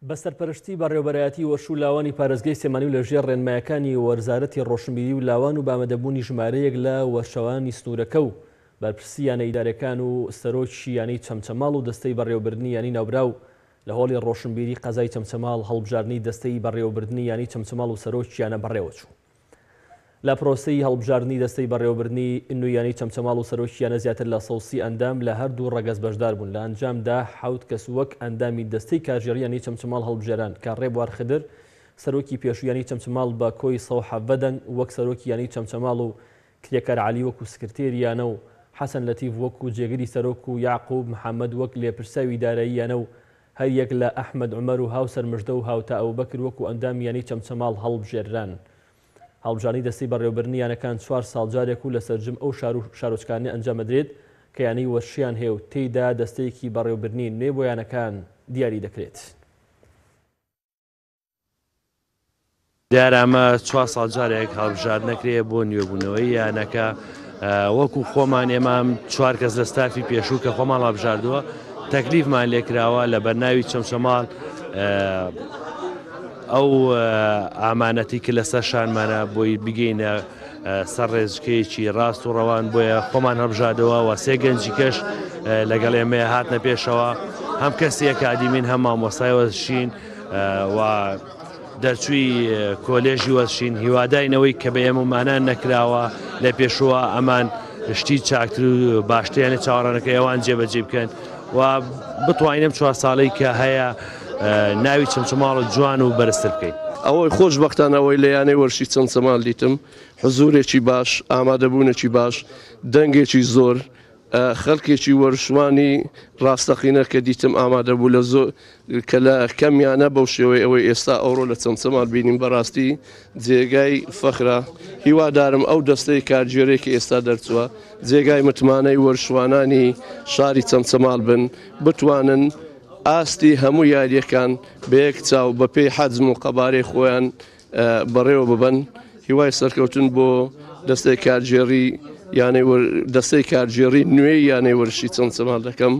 بە سەرپەرشتی بەڕێوەبەرایەتی وەرش و لاوانی پارێزگای سلێمانی و لەژێر ڕێنمایەکانی وەرزارەتی ڕۆشنبیری و لاوان و بە ئامادەبوونی ژمارەیەک لە وەرشەوانی سنوورەکە و بەرپرسی یانە ئیدارەکان و سەرۆکی یانەی چەمچەماڵ و دەستەی بەڕێوەبردنی یانەی ناوبراو لە هۆڵی ڕۆشنبیری قەزای چەمچەماڵ هەڵبژاردنی دەستەی بەڕێوەبردنی یانەی چەمچەماڵ و سەرۆکی یانە بەڕێوەچوو. لە پرۆسەی هەڵبژاردنی دەستەی بەڕێوەبردنی نوێی یانەی چەمچەماڵ و سەرۆکی یانە زیاتر لە 130 ئەندام لە هەردوو ڕەگەز بەشدار بوون، لە ئەنجامدا حەوت کەس وەک ئەندامی دەستەی کارگێڕی یانەی چەمچەماڵ هەڵبژێران کە ڕێبوار خدر سەرۆکی پێشوو یانەی چەمچەماڵ بە کۆی 117 دەنگ وەک سەرۆکی یانەی چەمچەماڵ و کرێکار عەلی وەکو سکرتێری یانە و حەسەن لەتیف وەکو جێگری سەرۆک و یەعقوب محەمەد وەک لێپرسراوی دارایی یانە و هەریەک لە ئەحمەد عومەر و هاوسەر مژدە و هاوتا ئەبوبەکر وەکو ئەندامی یانەی چەمچەماڵ هەڵبژێرران. هەڵبژاردنی دەستەی بەڕێوەبردنی یانەکان چوار ساڵ جارێک و لە سەرجم ئەو شار و شارۆچکانە ئەنجام ئەدرێت کە یانەی وەرشیان هەیە و تێیدا دەستەیەکی بەڕێوەبردنی نوێ بۆ یانەکان دیاری دەکرێت. دیارە ئەمە چوار ساڵ جارێک هەڵبژاردنەکرێ بۆ نوێبوونەوەی یانەکە وەکو خۆمان ئێمە چوار کەس لە ستافی پێشوو کە خۆمان هەڵبژاردووە تەکلیفمان لێکراوە لە بەرناوی چەمچەماڵ ئەو ئامانەتی کە لەسەر شانمانە بۆی بگەینە سەر ڕێزکەیەکی ڕاست و ڕەوان بۆیە خۆمان هەڵبژاردەوە و سێ گەنجی کەش لەگەڵ ئێمەیە هاتنە پێشەوە هەم کەسی ئەکادیمین هەم مامۆستای وەرزشین و دەرچووی کۆلێژی وەرزشین هیواداین ئەوەی کە بە ئێمەمانان نەکراوە لە پێشووە ئەمان شتی چاکتر و باشتریان لە چاوەڕانەکە ئەوان جێبەجێ بکەن و بتوانین ئەم چوار ساڵەی کە هەیە ناوی چەمچەماڵ جوان و بەرزتر بکەین. ئەوەی خۆشبەختانە ئەوەی لە یانەی وەرزشی چەمچەماڵ دیتم حزوورێکی باش، ئامادەبوونێکی باش، دەنگێکی زۆر، خەلکێکی وەرشوانی ڕاستەقینە کە دیتم ئامادە بوو لە زۆر کە لە کەم یانە بەو شێوەی ئەوەی ئێستا ئەوڕۆ لە چەمچەماڵ بینیم بەڕاستی جێگای فەخرە هیوادارم ئەو دەستەی کارگێرەی کە ئێستا دەرچووە جێگای متمانەی وەرشوانانی شاری چەمچەماڵ بن بتوانن ئاستی هەموو یاریەکان بە یەک چاو بەپێی حەجم و قەبارەی خۆیان بەڕێوە ببەن هیوای سەرکەوتن بۆ دەستەی کارگێڕی یانەی دەستەی کارگێڕی نوێی یانەی وەرزشی چەمچەماڵ دەکەم.